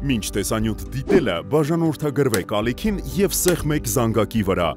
Մինչ տեսանյութ դիտելը բաժանորդագրվեք ալիքին և սեղ 1 զանգակի վրա։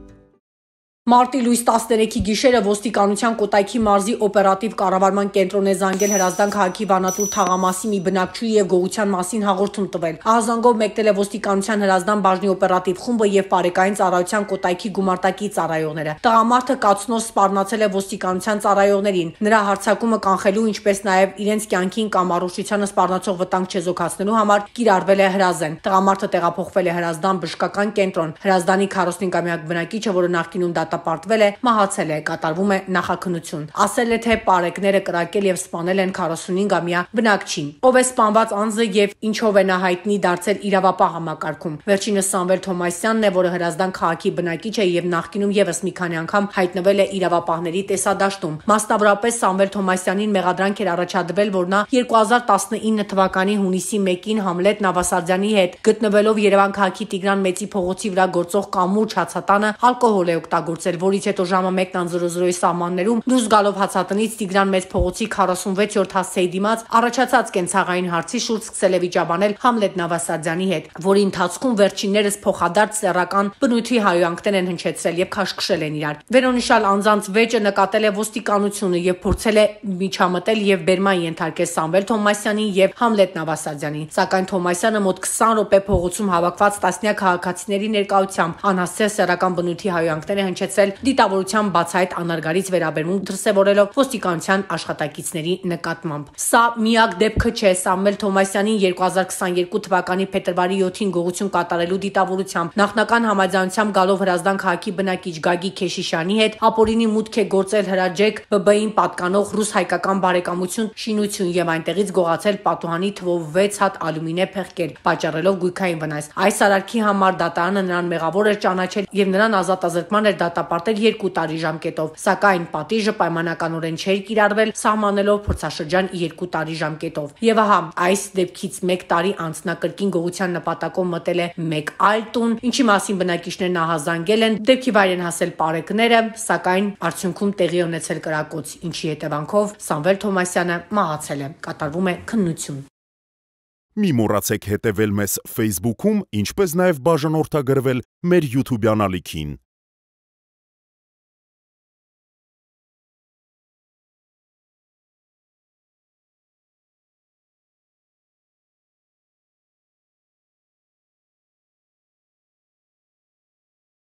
Մարտի լույս 13-ի գիշերը ոստիկանության Կոտայքի մարզի օպերատիվ կառավարման կենտրոն է զանգել Հրազդան քաղաքի Վանատուր թաղամասի մի բնակչուհի և գողության մասին հաղորդում տվել։ Ահազանգով մեկնել է ոստիկանության Հրազդան բաժնի օպերատիվ խումբը և բարեկային ծառայության Կոտայքի գումարտակի ծառայողները։ Տղամարդը կացնով սպառնացել է ոստիկանության ծառայողներին։ Նրա հարձակումը կանխելու, ինչպես նաև իրենց կյանքին կամ առողջությանը սպառնացող վտանգ չեզոքացնելու համար կիրառվել է հրազեն։ Տղամարդը տեղափոխվել է Հրազդան բժշկական կենտրոն։ Հրազդանի 45-ամյա բնակիչը, որը նախկինում դատապարտվել է, մահացել է, կատարվում է նախաքննություն։ Ասել է, թե պարեկները կրակել և սպանել են 45-ամյա բնակչին։ Ով է սպանված անձը և ինչով է նա հայտնի դարձել իրավապահ համակարգում։ Վերջինս Սամվել Թոմասյանն է, որը Հրազդան քաղաքի բնակիչ է և նախկինում ևս մի քանի անգամ հայտնվել է իրավապահների տեսադաշտում։ Մասնավորապես Սամվել Թոմասյանին մեղադրանք էր առաջադրվել, որ նա 2019 թվականի հունիսի 1-ին Համլետ Նավասարդյանի հետ գտնվելով Երևան քաղաքի Տիգրան Մեծի փողոցի վրա գործող Կամուրջը հացատանը ալկոհոլ է օգտագործել, որից հետո ժամը 1:00-ի սահմաններում դուրս գալով հացատնից Տիգրան Մեծ փողոցի 46-րդ հասցեի դիմաց առաջացած կենցաղային հարցի շուրջ սկսել է վիճաբանել Համլետ Նավասարդյանի հետ, որի ընթացքում վերջիններս փոխադարձ սեռական բնույթի հայհոյանքներ են հնչեցրել և քաշքշել են իրար։ Վերոնիշալ անձանց վեճը նկատել է ոստիկանությունը և փորձել է միջամտել և բերման ենթարկել Սամվել Թոմասյանին և Համլետ Նավասարդյանին, սակայն Թոմասյանը մոտ 20 րոպե փողոցում հավաքված տասնյակ քաղաքացիների ներկայությամբ անհասցե սեռական բնույթի հայհոյանքներ է հնչեցրել, դիտավորության բացահայտ անարգարից վերաբերմունք դրսևորելով ոստիկանության աշխատակիցների նկատմամբ։ Սա միակ դեպքը չէ Սամվել Թոմասյանին 2022 թվականի փետրվարի 7-ին գողություն կատարելու դիտավորությամբ նախնական համաձայնությամբ գալով Հրազդան քաղաքի բնակիչ Գագիկ Քեշիշյանի հետ ապօրինի մուտք է գործել Հրաջեկ ԲԲ-ին պատկանող ռուս-հայկական բարեկամություն շինություն և այնտեղից գողացել պատուհանի թվով 6 հատ ալյումինե փեղկեր, պատճառելով գույքային վնաս։ Այս արարքի համար դատարանը նրան մեղավոր էր ճանաչել և նրան ազատազրկման էր դատապարտել 2 տարի ժամկետով, սակայն պատիժը պայմանականորեն չէր կիրառվել, սահմանելով փորձաշրջան 2 տարի ժամկետով։ Եվ ահա այս դեպքից 1 տարի անց նա կրկին գողության նպատակով մտել է մեկ այլ տուն, ինչի մասին բնակիչներն ահազանգել են, դեպքի վայր են հասել պարեկները, սակայն արդյունքում տեղի ունեցել կրակոց, ինչի հետևանքով Սամվել Թոմասյանը մահացել է, կատարվում է քննություն։ Մի մոռացեք հետևել մեզ Facebook-ում, ինչպես նաև բաժանորդագրվել մեր YouTube-յան ալիքին։